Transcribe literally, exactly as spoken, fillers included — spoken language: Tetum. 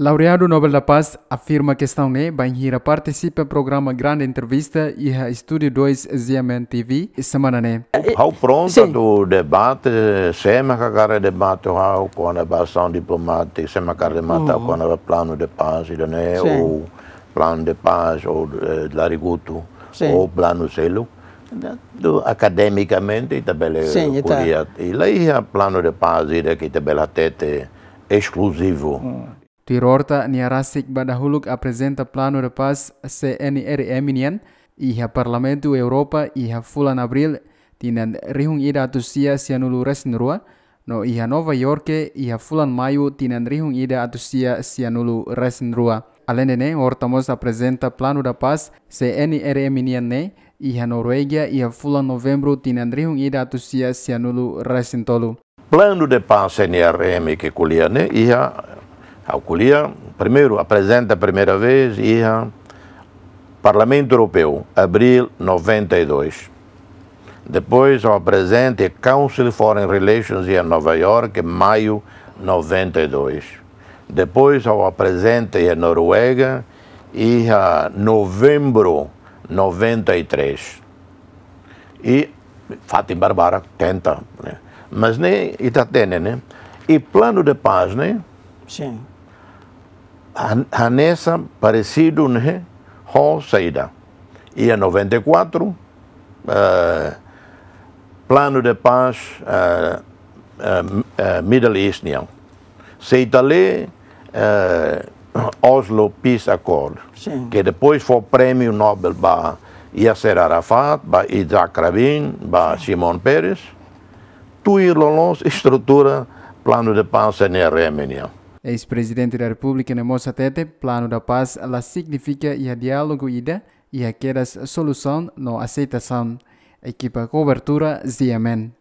Laureadu Nobel da Paz afirma kestaun ne'e bainhira partisipa programa Grande Entrevista iha Estúdiu dois G M N T V semana ne'e. Ha'u pronta Sin. do debate, sé mak hakarak debate ho ha'u kona-ba asaun diplomátika, sé mak hakarak debate kona-ba planu de paz, ida-ne'e, Sin. ou planu de paz, ou eh, Larigutu, Sin. ou planu seluk. Do akademikamente, ita bele Sin, ita. ko'alia. I la iha planu de paz, ida ke ita bele hatete eskluzivu. Tuir Horta nia rasik ba dahuluk aprezenta planu de paz C N R M nian iha Parlamentu Europa iha fulan Abríl tinan rihun ida atus sia sianulu resin rua, no iha Nova York iha fulan Maiu tinan rihun ida atus sia sianulu resin rua. Alende ne'e, Horta mós aprezenta planu da paz C N R M nian ne'e iha Noruega iha fulan Novembru tinan rihun ida atus sia sianulu resin tolu. Planu de paz C N R M ke ko'alia ne'e iha, ha'u ko'alia, primeiru, aprezenta primeira vez iha Parlamentu Europeu, Abríl noventa e dois. Depois, ha'u aprezenta iha Council Foreign Relations iha Nova York, Maiu noventa e dois. Depois, ha'u aprezenta iha Noruega, iha Novembru noventa e três. I fatin barbarak tenta, ne'e. Mas ne'e ita hatene, ne'e. I planu de paz, ne'e, Sin. han- hanesan paresidu, ne'e, ho saida. Iha noventa e quatro, eh, planu de paz, eh, eh, eh, Middle East nian. Se ita lee, eh, Oslo Peace Accord, Sin. ke depois fó prémiu Nobel ba Yasser Arafat, ba Yitzhak Rabin, ba Shimon Peres, tuir loloos estrutura planu de paz C N R M nian. Eis-Prezidente da Repúblika ne'e mós hatete, planu da paz la signifika iha diálogu ida, iha kedas solusaun no aseitasaun. Ekipa kobertura Z M N.